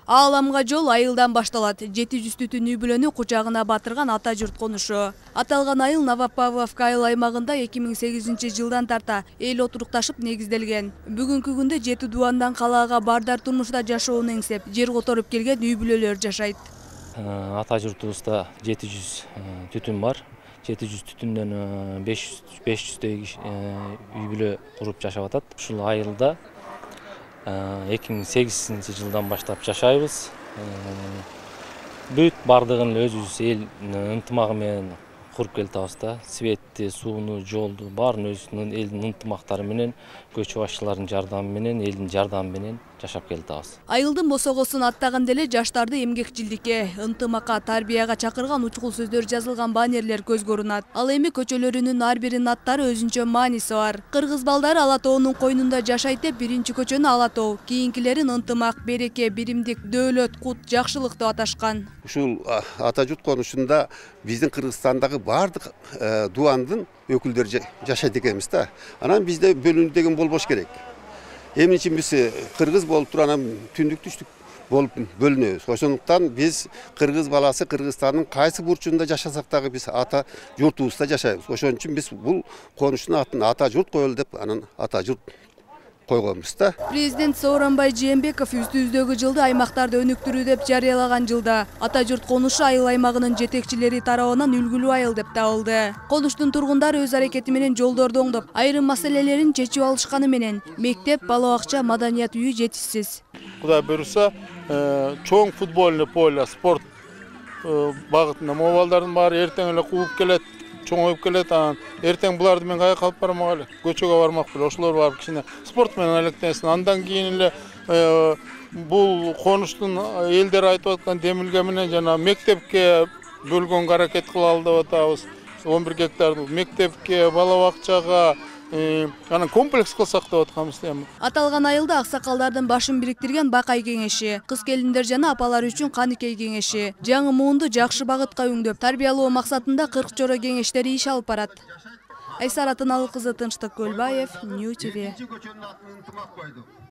Ааламга жол айылдан башталат. 700 түтүн үй бүлөнү кучагына батырган ата журт конушу. Аталган айыл Новопавловка айыл аймагында 2008 жылдан тарта эл отурукташып негизделген. Бүгүнкү күндө 7 дубандан калаага бардар турмушта жашоону эңсеп, жер которуп келген үй бүлөлөр жашайт. Ата журтубузда 700 түтүн бар. 700 түтүндөн 500 үй бүлө куруп жашап атат. Ушул айылда 2008 жылдан баштап жашайбыз. Бүт бардыгын өзүбүз эл ынтымагы менен куруп келатабыз да. Светти, сууну, жолду баарын өзүбүздүн элдин ынтымактары менен, көчө башчылардын жардамы менен, элдин жардамы менен жашап келатабыз. Айылдын босогосун аттаган деле жаштарды эмгекчилдикке, ынтымакка, тарбияга чакырган учкул сөздөр жазылган баннерлер көзгө көрүнөт. Ал эми көчөлөрүнүн ар биринин аттары өзүнчө мааниси бар. Кыргыз балдары Ала тоонун койнунда жашайт деп биринчи көчөнү Ала тоо, кийинкилерин ынтымак, береке, биримдик, дөөлөт, кут, жакшылык деп аташкан. Ушул ата журт конушунда биздин Кыргызстандагы бардык дубандын өкүлдөрү жашайт экенбиз да. Анан бизде бөлүнүү деген болбош керек. Эмне үчүн биз кыргыз болуп туруп анан түндүк түштүк болуп бөлүнөбүз. Ошондуктан биз кыргыз баласы Кыргызстандын кайсы бурчунда жашасак дагы биз ата журтубузда жашайбыз. Ошон үчүн биз бул конуштун атын ата журт коелу деп анан ата журт койгонбуз да. Президент Сооронбай Жээнбеков үстүбүздөгү жылды аймактарды өнүктүрүү деп жарыялаган жылда ата журт конушу айыл аймагынын жетекчилери тарабынан үлгүлүү айыл деп табылды. Конуштун тургундары өз аракети менен жолдорду оңдоп, айрым маселелерин чечип алышканы менен мектеп, бала бакча, маданият үйү жетишсиз. Кудай буйруса, чоң футбольный поле, спорт багытында балдардын баары эртең эле кууп келет. Чоңоюп келет, анан эртең буларды мен кайга алып бармак эле, көчөгө бармак беле, ошолор барып кичине спорт менен алектенсин. Андан кийин эле бул конуштун элдер айтып аткан демилге менен жана мектепке бөлгөнгө аракет кылалы деп атабыз. 11 гектарды мектепке, бала бакчага, анан комплекс кылсак деп атканбыз эми. Аталган айылда аксакалдардын башын бириктирген Бакай кеңеши, кыз келиндер жана апалар үчүн Каныкей кеңеши, жаңы муунду жакшы багытка өңдөп, тарбиялоо максатында 40 чора кеңештери иш алып барат. Айсара Тыналык кызы, Тынчтык Көлбаев, Нью ТВ.